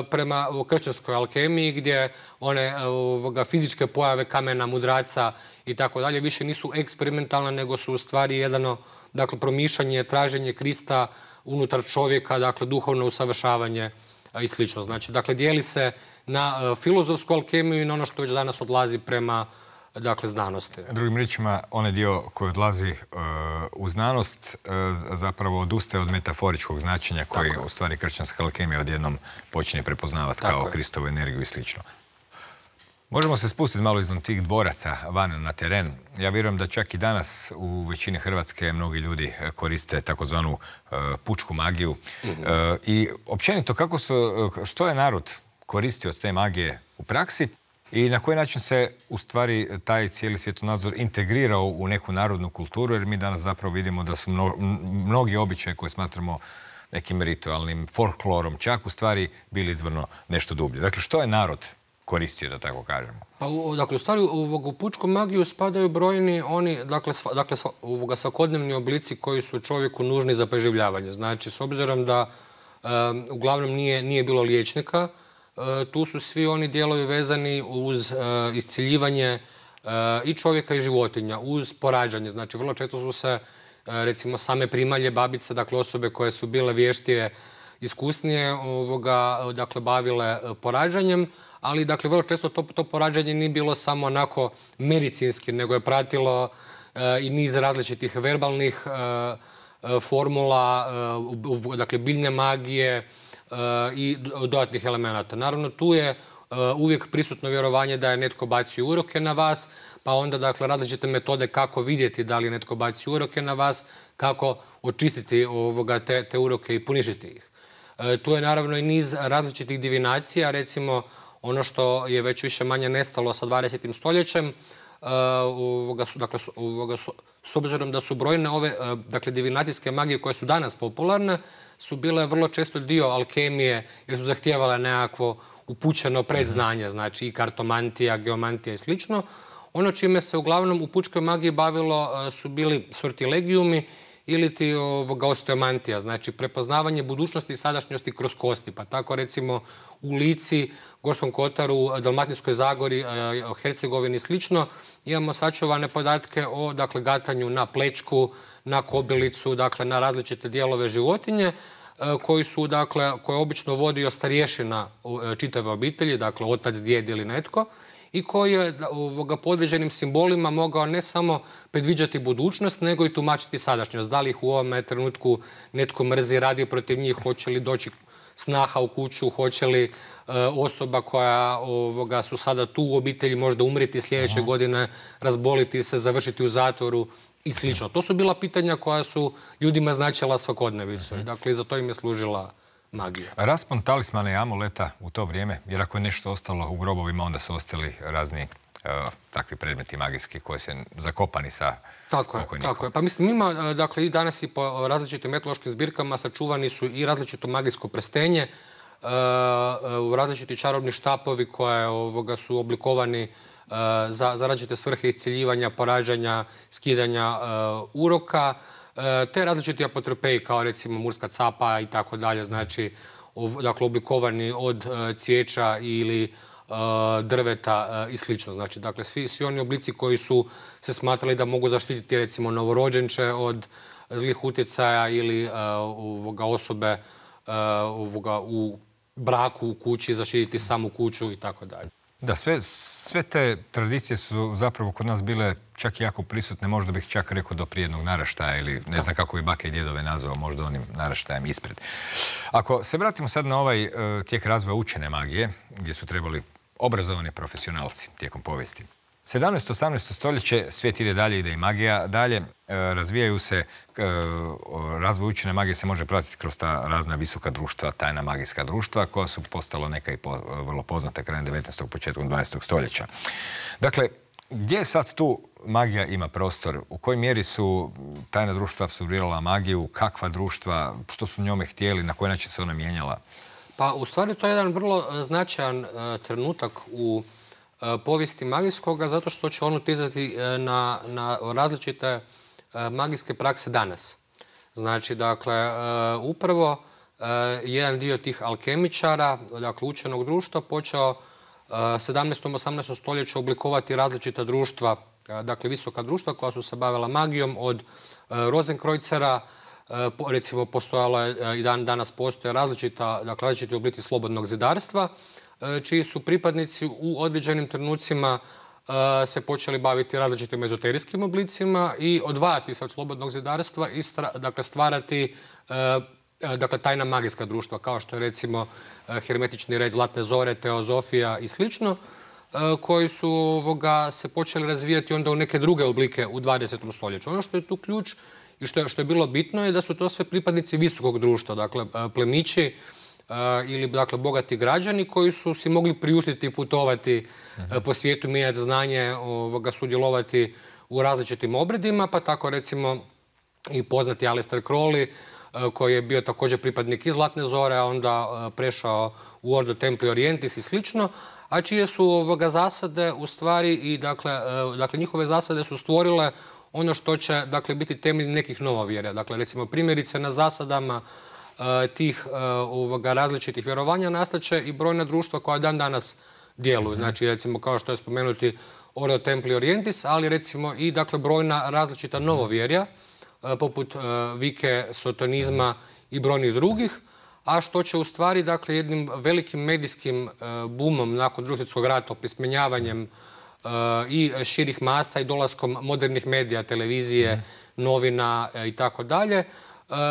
S2: prema kršćanskoj alkemiji, gdje one fizičke pojave kamena, mudraca i tako dalje više nisu eksperimentalne, nego su u stvari jedno, dakle, promišljanje, traženje Krista unutar čovjeka, dakle, duhovno usavršavanje i slično. Znači, dakle, dijeli se na filozofsku alkemiju i na ono što već danas odlazi prema, dakle, znanosti.
S1: Drugim riječima, onaj dio koji odlazi u znanost zapravo odustaje od metaforičkog značenja koji u stvari kršćanska alkemija odjednom počinje prepoznavati kao Kristovu energiju i slično. Možemo se spustiti malo iznad tih dvoraca van na teren. Ja vjerujem da čak i danas u većini Hrvatske mnogi ljudi koriste takozvanu pučku magiju. I općenito, što je narod koristio od te magije u praksi i na koji način se u stvari taj cijeli svjetonazor integrirao u neku narodnu kulturu, jer mi danas zapravo vidimo da su mnogi običaji koje smatramo nekim ritualnim folklorom čak u stvari bili izvorno nešto dublje. Dakle, što je narod koristio, da tako kažemo?
S2: Pa, dakle, u stvari u pučku magiju spadaju brojni oni, dakle, svakodnevni oblici koji su čovjeku nužni za preživljavanje. Znači, s obzirom da uglavnom nije bilo liječnika, tu su svi oni dijelovi vezani uz isciljivanje i čovjeka i životinja, uz porađanje. Znači, vrlo često su se, recimo, same primalje, babice, dakle, osobe koje su bile vještije, iskusnije, dakle, bavile porađanjem, ali, dakle, vrlo često to porađanje nije bilo samo onako medicinski, nego je pratilo i niz različitih verbalnih formula, dakle, biljne magije i dodatnih elemenata. Naravno, tu je uvijek prisutno vjerovanje da je netko bacio uroke na vas, pa onda, dakle, različite metode kako vidjeti da li je netko bacio uroke na vas, kako očistiti te uroke i poništiti ih. Tu je naravno i niz različitih divinacija, recimo ono što je već više manje nestalo sa 20. stoljećem, s obzirom da su brojne ove, dakle, divinacijske magije koje su danas popularne, su bile vrlo često dio alkemije jer su zahtijevale nekakvo upućeno predznanje, znači i kartomantija, geomantija i slično. Ono čime se uglavnom u pučkoj magiji bavilo su bili sortilegijumi ili ti osteomantija, znači prepoznavanje budućnosti i sadašnjosti kroz kosti. Pa tako recimo u Lici, Gorskom kotaru, Dalmatinskoj zagori, Hercegovini i slično, imamo sačuvane podatke o gatanju na plečku, na kobilicu, na različite dijelove životinje, koje obično vodio starješina čitave obitelji, dakle otac, djed ili netko, i koji je po određenim simbolima mogao ne samo predviđati budućnost, nego i tumačiti sadašnjost. Da li ih u ovome trenutku netko mrzi, radi protiv njih, hoće li doći snaha u kuću, hoće li osoba koja su sada tu u obitelji možda umriti sljedeće godine, razboliti se, završiti u zatvoru i slično. To su bila pitanja koja su ljudima značila svakodnevicu. Dakle, i za to im je služila magija.
S1: Raspon talismana i amuleta u to vrijeme, jer ako je nešto ostalo u grobovima, onda su ostali razni takvi predmeti magijski koji su zakopani sa pokojnikom.
S2: Tako je. Pa mislim, ima, dakle, i danas i po različitim etnološkim zbirkama sačuvani su i različito magijsko prstenje, različiti čarobni štapovi koje su oblikovani za različite svrhe iscijeljivanja, porađanja, skidanja uroka, te različiti apotropeji kao recimo murska capa i tako dalje, znači oblikovani od cvijeća ili drveta i slično. Znači, dakle, svi oni oblici koji su se smatrali da mogu zaštititi recimo novorođenče od zlih utjecaja ili osobe u braku, u kući, zaštititi samu kuću i tako dalje.
S1: Da, sve te tradicije su zapravo kod nas bile čak i jako prisutne, možda bih čak rekao do prije jednog naraštaja ili ne znam kako bi bake i djedove nazvao, možda onim naraštajem ispred. Ako se vratimo sad na ovaj tijek razvoja učene magije, gdje su trebali obrazovani profesionalci tijekom povijesti. 17. 18. stoljeće svijet ide dalje, ide i magija dalje. Razvijaju se, razvoj učene magije se može pratiti kroz ta razna visoka društva, tajna magijska društva, koja su postala neka i vrlo poznata krajem 19. početkom 20. stoljeća. Dakle, gdje sad tu magija ima prostor? U kojoj mjeri su tajna društva apsorbirala magiju? Kakva društva? Što su njome htjeli? Na koji način se ona mijenjala?
S2: Pa, u stvari, to je jedan vrlo značajan trenutak u povijesti magijskoga, zato što će on utjecati na različite magijske prakse danas. Znači, dakle, upravo jedan dio tih alkemičara, dakle, učenog društva, počeo 17. 18. stoljeću oblikovati različita društva, dakle, visoka društva koja su se bavila magijom, od Rozenkreuzera, recimo, postojalo je i danas postoje različiti oblici slobodnog zidarstva, čiji su pripadnici u određenim trenucima se počeli baviti različitim ezoterijskim oblicima i odvajati se od slobodnog zidarstva i stvarati tajna magijska društva, kao što je recimo hermetični red Zlatne zore, teozofija i slično, koji su se počeli razvijati onda u neke druge oblike u 20. stoljeću. Ono što je tu ključ i što je bilo bitno je da su to sve pripadnici visokog društva, dakle plemići ili bogati građani koji su si mogli priuštiti putovati po svijetu, mijenjati znanje, sudjelovati u različitim obredima, pa tako recimo i poznati Aleister Crowley, koji je bio također pripadnik iz Zlatne zore, a onda prešao u Ordo Templi Orientis i slično, a čije su zasade u stvari i dakle njihove zasade su stvorile ono što će biti temelj nekih novovjera. Dakle, recimo primjerice na zasadama tih različitih vjerovanja nastaće i brojna društva koja dan danas djeluju. Znači, recimo, kao što je spomenuti Ordo Templi Orientis, ali recimo i brojna različita novovjerja, poput Vike, sotonizma i brojnih drugih, a što će u stvari, jednim velikim medijskim bumom nakon Drugog svjetskog rata, opismenjavanjem i širih masa i dolaskom modernih medija, televizije, novina i tako dalje,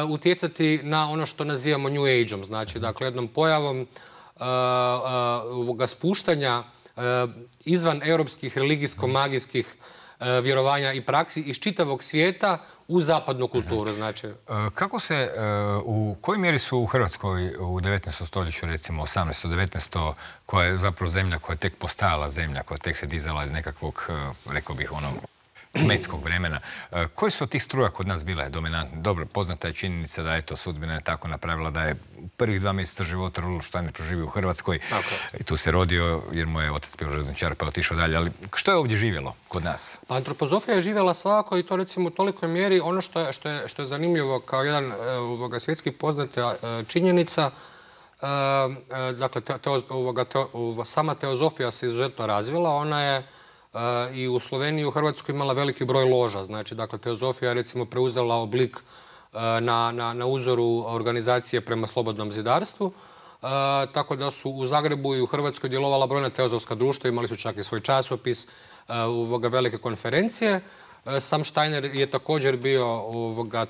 S2: utjecati na ono što nazivamo New Age-om. Znači, jednom pojavom spuštanja izvan europskih religijsko-magijskih vjerovanja i praksi iz čitavog svijeta u zapadnu kulturu. Znači,
S1: kako se, u kojoj mjeri su u Hrvatskoj u 19. stoljeću, recimo 18. 19. koja je zapravo zemlja koja je tek postajala zemlja, koja tek se dizala iz nekakvog, rekao bih, kmetskog vremena. Koje su od tih struja kod nas bile dominantne? Dobro, poznata je činjenica da je to sudbina je tako napravila da je prvih 2 mjeseca života Rudolf Steiner proživio u Hrvatskoj i tu se rodio jer mu je otac bio željezničar pa je otišao dalje. Ali što je ovdje živjelo kod nas?
S2: Pa antropozofija je živjela svakako i to recimo u tolikoj mjeri. Ono što je zanimljivo kao jedan svjetski poznata činjenica, dakle, sama teozofija se izuzetno razvila. Ona je i u Sloveniji i u Hrvatskoj imala veliki broj loža. Znači, dakle, teozofija je recimo preuzela oblik na uzoru organizacije prema slobodnom zidarstvu. Tako da su u Zagrebu i u Hrvatskoj djelovala brojna teozofska društva, imali su čak i svoj časopis, velike konferencije. Sam Steiner je također bio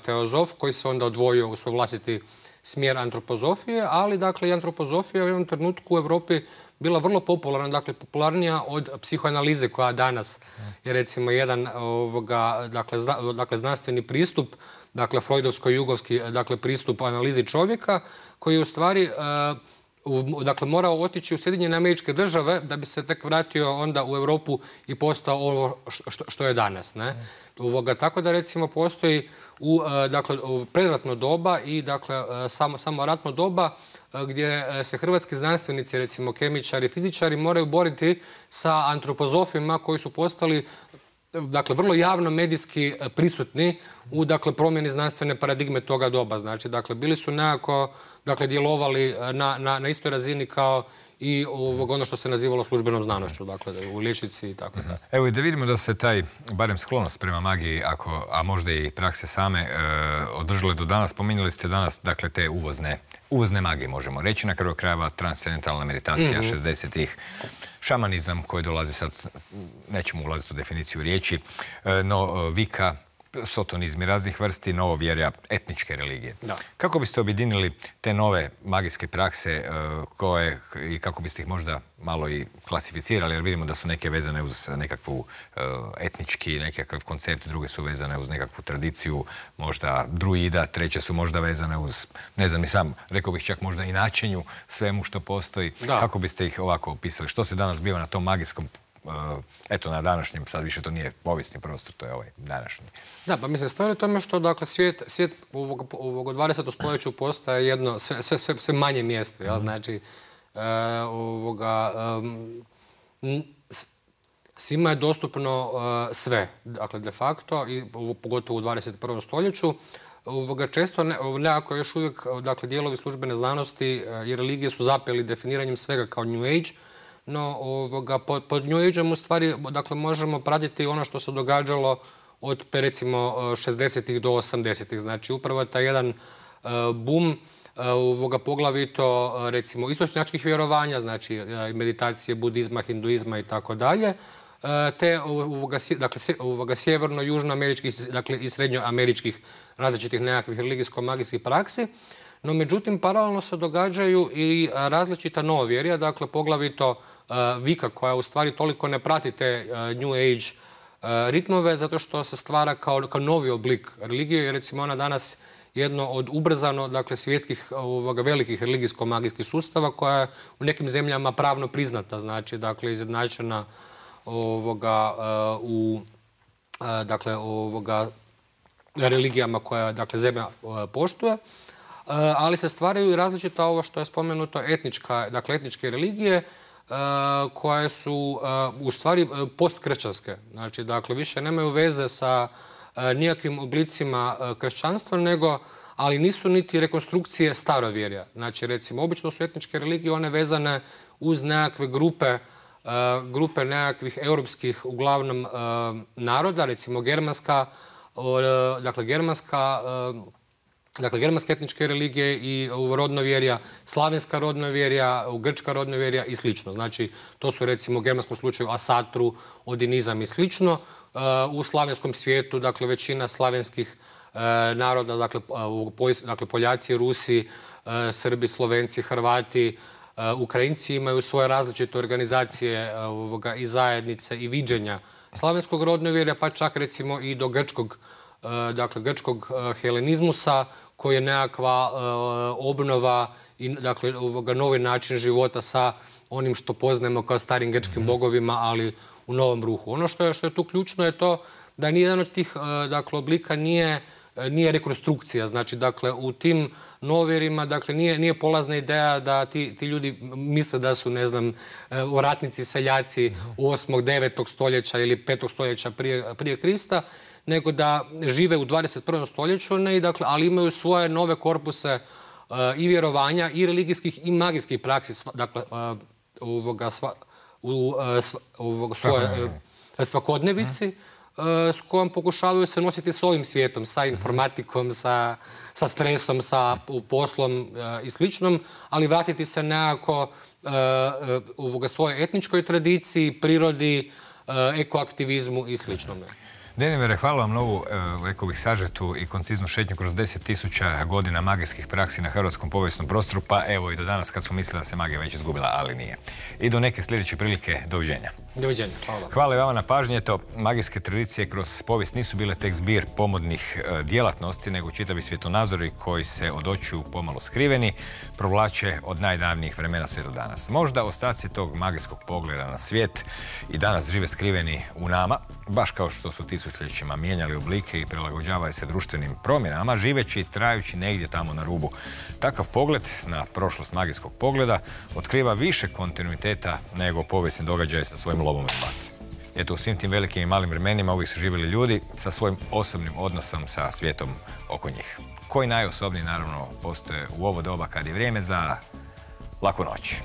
S2: teozof koji se onda odvojio u svoj vlastiti smjer antropozofije, ali dakle i antropozofija u jednom trenutku u Europi bila vrlo popularna, dakle popularnija od psihoanalize koja danas je recimo jedan dakle znanstveni pristup, dakle freudovsko-jugovski dakle pristup analizi čovjeka koji je u stvari dakle morao otići u Sjedinjene Američke Države da bi se tek vratio onda u Europu i postao ovo što je danas. Ne? Tako da recimo postoji dakle, predratno doba i dakle, samo ratno doba gdje se hrvatski znanstvenici, recimo kemičari, fizičari moraju boriti sa antropozofima koji su postali dakle, vrlo javno medijski prisutni u dakle, promjeni znanstvene paradigme toga doba. Znači, dakle, bili su nekako dakle, djelovali na istoj razini kao i ono što se nazivalo službenom znanošću, dakle, u liječnici i tako da.
S1: Evo i da vidimo da se taj, barem sklonost prema magiji, a možda i prakse same, održale do danas. Spominjali ste danas, dakle, te uvozne magije, možemo reći, na kraju krajeva transcendentalna meditacija 60-ih, šamanizam koji dolazi sad, nećemo ulaziti u definiciju riječi, no vika, sotonizmi raznih vrsti, novovjerja, etničke religije. Da. Kako biste objedinili te nove magijske prakse i kako biste ih možda malo i klasificirali, jer vidimo da su neke vezane uz nekakvu etnički, nekakav koncept, druge su vezane uz nekakvu tradiciju, možda druida, treće su možda vezane uz, ne znam ni sam, rekao bih čak možda i načinju svemu što postoji. Da. Kako biste ih ovako opisali? Što se danas biva na tom magijskom eto, na današnjem, sad više to nije povijesni prostor, to je ovaj današnji. Da,
S2: pa mislim, stvar je tome što, dakle, svijet ovog 20. stoljeću postaje jedno sve manje mjesto, jel? Znači, svima je dostupno sve, dakle, de facto, i pogotovo u 21. stoljeću. Često nekako još uvijek, dakle, dijelovi službene znanosti i religije su zapeli definiranjem svega kao New Age. No, pod New Age-om u stvari dakle, možemo pratiti ono što se događalo od recimo 60-ih do 80-ih. Znači, upravo taj jedan boom poglavito recimo istočnjačkih vjerovanja, znači meditacije, budizma, hinduizma i tako dalje, te dakle, sjeverno-južnoameričkih, dakle i srednjoameričkih različitih nekakvih religijsko-magijskih praksi. No, međutim, paralelno se događaju i različita novovjerja, dakle, poglavito vika koja u stvari toliko ne prati te New Age ritmove, zato što se stvara kao novi oblik religije, jer recimo ona danas jedno od ubrzano, dakle, svjetskih velikih religijsko-magijskih sustava koja je u nekim zemljama pravno priznata, znači, dakle, izjednačena u dakle, religijama koja, dakle, zemlja poštuje. Ali se stvaraju i različita ovo što je spomenuto etničke religije koje su u stvari postkršćanske. Znači, dakle, više nemaju veze sa nijakvim oblicima kršćanstva, ali nisu niti rekonstrukcije starovjerja. Znači, recimo, obično su etničke religije one vezane uz nekakve grupe nekakvih europskih, uglavnom, naroda, recimo germanske etničke religije i rodnovjerja, slavenska rodnovjerja, grčka rodnovjerja i slično. Znači, to su recimo u germanskom slučaju asatru, odinizam i slično. U slavenskom svijetu, dakle, većina slavenskih naroda, dakle, Poljaci, Rusi, Srbi, Slovenci, Hrvati, Ukrajinci imaju svoje različite organizacije i zajednice i viđenja slavenskog rodnovjerja, pa čak recimo i do grčkog helenizmusa, koji je nekakva obnova i novi način života sa onim što poznajemo kao starim grčkim bogovima, ali u novom ruhu. Ono što je tu ključno je to da nijedan od tih oblika nije rekonstrukcija. Znači, u tim novirima nije polazna ideja da ti ljudi misle da su, ne znam, ratnici, seljaci 8. 9. stoljeća ili 5. stoljeća prije Krista, nego da žive u 21. stoljeću, ali imaju svoje nove korpuse i vjerovanja, i religijskih, i magijskih praksi, u svoje svakodnevici, s kojom pokušavaju se nositi s ovim svijetom, sa informatikom, sa stresom, sa poslom i sličnom, ali vratiti se nekako svojoj etničkoj tradiciji, prirodi, ekoaktivizmu i sličnome.
S1: Denimere, hvala vam na ovu, rekao bih, sažetu i konciznu šetnju kroz 10.000 godina magijskih praksi na hrvatskom povijesnom prostoru, pa evo i do danas kad smo mislili da se magija već izgubila, ali nije. I do neke sljedeće prilike, doviđenja.
S2: Doviđenja, hvala.
S1: Hvala i vama na pažnji. Eto, magijske tradicije kroz povijest nisu bile tek zbir pomodnih djelatnosti, nego čitavi svjetonazori koji se od očiju pomalo skriveni provlače od najdavnijih vremena sve do danas. Možda ostaci tog magijskog pogleda na svijet i danas žive skriveni u nama, baš kao što su tisućljećima mijenjali oblike i prilagođavali se društvenim promjenama, živeći i trajući negdje tamo na rubu. Takav pogled na prošlost magijskog pogleda otkriva više kontinuiteta nego povijesni događaj sa svojim lomom i batom. Eto, u svim tim velikim i malim vremenima uvijek su živjeli ljudi sa svojim osobnim odnosom sa svijetom oko njih. Koji najosobniji, naravno, postoje u ovo doba kad je vrijeme za laku noć.